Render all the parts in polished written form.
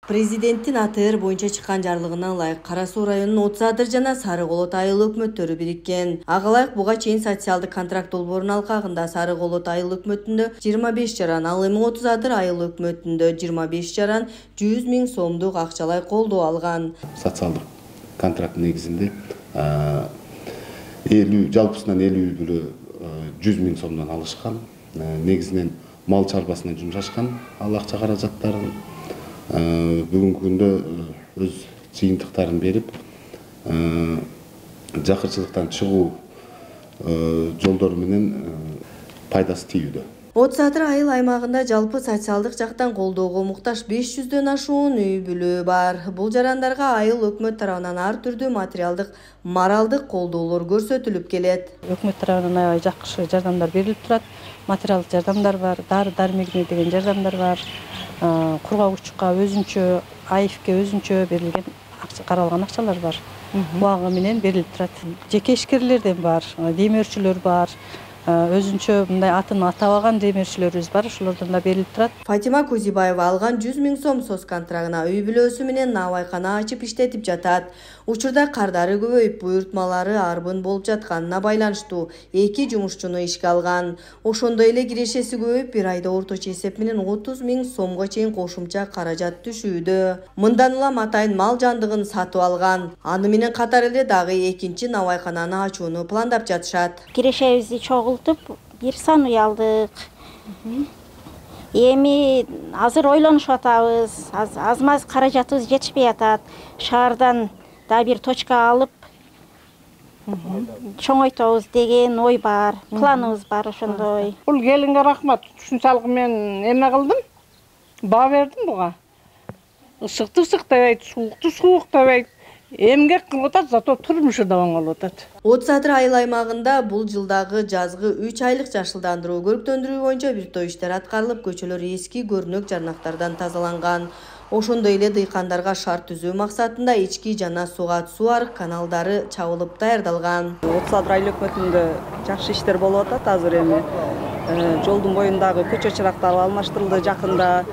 Президенттин АТР боюнча чыккан жарлыгына ылайык Кара Суу районунун Отуз Адыр жана Сары Колот айыл өкмөттөрү бириккен. Ага ылайык буга чейин социалдык контракт долбоорунун алкагында Сары Колот айыл өкмөтүндө 25 жаран, ал эми Отуз Адыр айыл өкмөтүндө 25 жаран 100 000 сомдук акчалай колдоо алган. Социалдык контракт негизинде жалпысынан 100 000 сомдон алышкан. Негизинен мал чарбасына жумшашкан ал акча каражаттарын. Бүгүнкү күндө өз жыйынтыктарын берип, жакырчылыктан чыгуу жолдору менен пайдасы тийүүдө. Отуз Адыр айыл аймагында жалпы социалдык жактан колдоого муктаж 500дөн ашуун үй бүлө бар. Бул жарандарга айыл өкмөт тарабынан ар түрдүү материалдык, моралдык колдоолор көрсөтүлүп келет. Өкмөт тарабынан аябай жакшы жардамдар берилип турат. Материалдык жардамдар бар, дары-дармегине деген жардамдар бар. Кургагучка өзүнчө, АИФке өзүнчө берилген каралган акчалар бар. Буга менен берилип турат. Жеке ишкерлерден бар, демөөрчүлөр бар. Өзүнчө мындай атын атабаган демөөрчүлөрүбүз бар, ошолордон да берилип турат. Фатима Кузибаева алган 100 000 сом соц контрагына үй бүлөсү менен набайкана ачып иштетип жатат. Учурда кардары көбөйүп, буйртмалары арбын болуп жатканына байланыштуу 2 жумушчуну ишке алган. Ошондой эле кирешеси көбөйүп, бир айда орточо эсеп менен 30 000 сомго чейин кошумча каражат түшүүдө. Мындан улам атайын мал жандыгын сатып алган. Аны менен катар эле дагы экинчи набайкананы ачууну пландап жатышат. Кирешебизди чогултуп, бир сан үй алдык. Эми азыр ойлонушуп атабыз. Аз-маз каражатыбыз жетишпей атат. Шаардан да бир точка алып, чоңойтобуз деген ой бар, планыбыз бар ошондой. Бул келинге рахмат. Ушунчалык мен эме кылдым. Баа бердим буга. Ысыкты ысыктабайт, суукту сууктабайт. Эмгек кылып атат, зато турмушу да оңолуп атат. Отуз Адыр айыл аймагында бул жылдагы жазгы 3 айлык жашылдандыруу, көрктөндүрүү боюнча бир топ иштер аткарылып, көчөлөр эски көрүнөк жарнактардан тазаланган. Ошондой эле дыйкандарга шарт түзүү максатында ички жана сугат суу арык каналдары чабылып даярдалган. Отуз Адыр айыл өкмөтүндө жакшы иштер болуп атат азыр эми. Жолдун боюндагы көчө чырактары алмаштырылды жакында.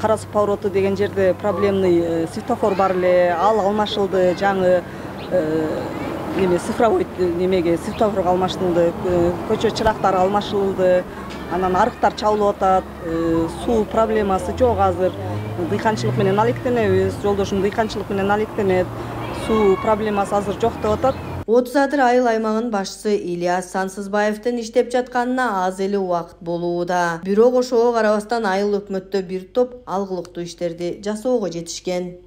Кара Суу повороту деген жерде проблемный светофор бар эле, ал алмашылды, жаңы цифровой светофорго алмаштырылды, көчө чырактары алмашылды, анан арыктар чабылып атат, суу проблемасы жок азыр. Дыйканчылык менен алектенебиз, жолдошум дыйканчылык менен алектенет, суу проблемасы азыр жок деп атат. Отуз Адыр айыл аймагынын башчысы Ильяс Сансызбаевдин иштеп жатканына аз эле убакыт болууда. Бирок ошого карабастан айыл өкмөттө бир топ алгылыктуу иштерди жасоого жетишкен.